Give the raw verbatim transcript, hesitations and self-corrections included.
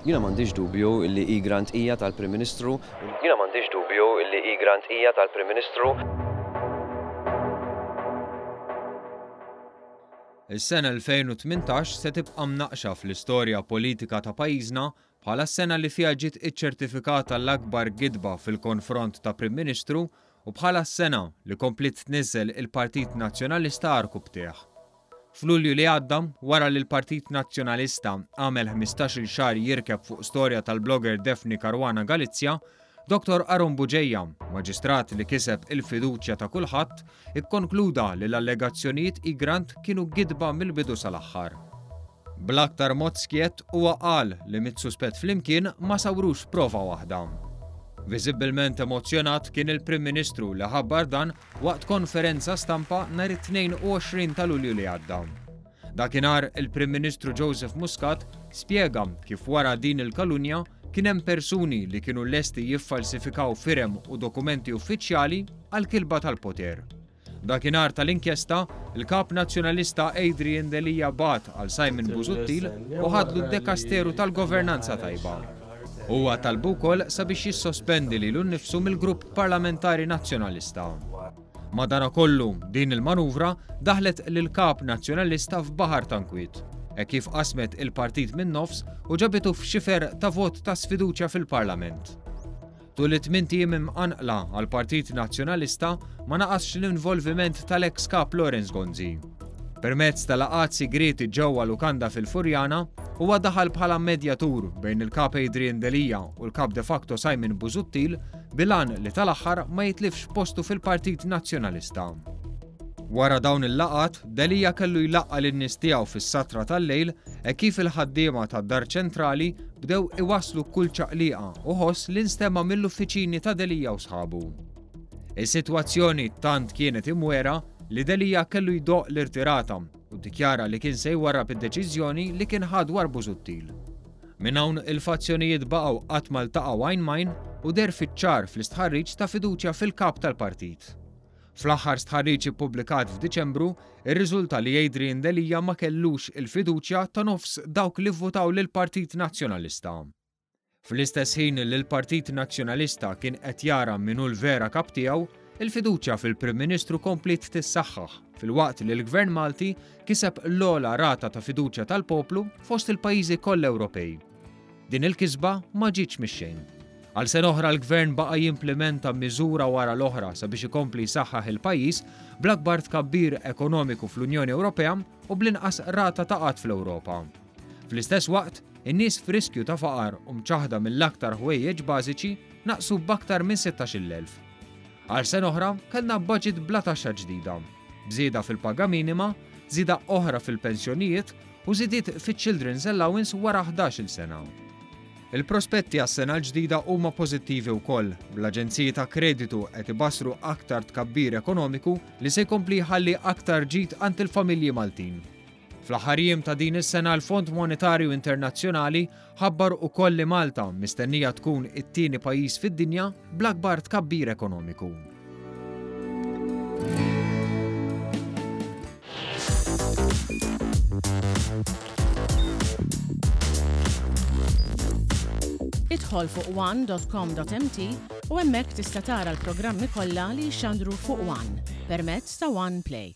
Jiena m'għandix dubju li Egrant hija tal-Prim Ministru. Jiena m'għandix dubju li Egrant hija tal-Prim Ministru. Is-sena elfejn u tmintax se tibqa' mnaqxa fl-istorja politika ta' pajjiżna bħala s-sena li fiha ġiet iċċertifikata l-akbar gidba fil-konfront ta' Prim Ministru u bħala s-sena li kompliet tniżżel il-Partit Nazzjonalista għarkupptejh. F'Lulju li għadda, wara li l-Partit Nazzjonalista għamel ħmistax-il xahar jirkeb fuq storja tal-blogger Daphne Caruana Galizia, Doktor Aaron Bugeja, maġistrat li kiseb il-fiduċja ta' kulħadd, ikkonkluda li l-allegazzjonijiet Egrant kienu gidba mill-bidu sal-aħħar. Bl-aktar mod skjett huwa qal li mit-suspett flimkien ma sawrux prova waħda. Viżibbilment emozjonat kien il-Prim Ministru li ħabbar dan waqt konferenza stampa nhar it-tnejn u għoxrin ta' Lulju li għadda. Dakinhar il-Prim Ministru Joseph Muscat spjega kif wara din il-kalunja kien hemm persuni li kienu lesti jiffalsifikaw firem u dokumenti uffiċjali għal kilba tal-poter. Dakinhar tal-inkjesta, il-kap nazzjonalista Adrian Delia bat għal Simon Busuttil u ħadlu d-dekasteru tal-governanza tajba. Huwa talbu wkoll sabiex jissospendi lilu nnifsu mill-grupp parlamentari nazzjonalista. Madanakollu, din il-manuvra daħlet lil kap nazzjonalista f'baħar ta' nkwiet, e kif qasmet il-partit min-nofs u ġabitu f'xifer ta' vot ta' sfiduċja fil-Parlament. Tul it-tmien ijiem imqanqla għal Partit Nazzjonalista ma naqasx l-involviment tal-ex kap Lawrence Gonzi. Permezz tal-laqgħat sigrieti ġewwa lukanda fil-Furjana, huwa daħal bħala medjatur bejn il-kap Adrian Delia u l-kap de facto Simon Busuttil bilan li tal-aħħar ma jitlifx postu fil-Partit Nazzjonalista. Wara dawn il-laqgħat, Delia kellu jlaqqa' lin-nies tiegħu fis-satra tal-lejl e kif il-ħaddiema tad-Dar Ċentrali bdew iwasslu kull ċaqliqa u ħoss li nstema' mill-uffiċini ta' Delia u sħabu. Is-sitwazzjoni tant kienet imwera li Delia kellu jdoq l-irtirata u ddikjara li kien se jwarrab id-deċiżjoni li kien ħa dwar Busuttil. Minn hawn il-fazzjonijiet baqgħu qatt ma ltaqgħu għajn m'għajn u deher fiċ-ċar fl-istħarriġ ta' fiduċja fil-kap tal-partit. Fl-aħħar stħarriġ ippubblikat f'Diċembru, irriżulta li Adrian Delia ma kellux il-fiduċja ta' nofs dawk li vvutaw lill-Partit Nazzjonalista. Fl-istess ħin li l-Partit Nazzjonalista kien qed jara min hu l-vera kap tiegħu, il-fiduċja fil-Prim Ministru kompliet tissaħħaħ filwaqt li l-Gvern Malti kiseb l-ogħla rata ta' fiduċja tal-poplu fost il-pajjiżi kollha Ewropej. Din il-kisba ma ġietx mix-xejn. Għal sena oħra l-Gvern baqa' jimplementa miżura wara l-oħra sabiex ikompli jsaħħaħ il-pajjiż bl-akbar tkabbir ekonomiku fl-Unjoni Ewropea u bl-inqas rata ta' qgħad fl-Ewropa. Fl-istess waqt, in-nies f'riskju ta' faqar u mċaħda mill-aktar ħwejjeġ bażiċi naqsu b'aktar minn sittax-il elf. Għal sena oħra kellna budget bla taxxa ġdida, b'żieda fil-paga minima, żieda oħra fil-pensjonijiet u żidiet fiċ-Children's Allowance wara ħdax-il sena. Il-prospetti għas-sena l-ġdida huma pożittivi wkoll, bl-aġenziji ta' kreditu qed ibassru aktar tkabbir ekonomiku li se jkompli jħalli aktar ġid għand il-familji Maltin. Fl-aħħar jiem ta' din is-sena l-Fond Monetarju Internazzjonali ħabbar ukoll li Malta mistennija tkun it-tieni pajjiż fid-dinja bl-akbar tkabbir ekonomiku. Idħol fuq one dot com dot M T u hemmhekk tista' tara l-programmi kollha li jxandru fuq One permezz ta' One Play.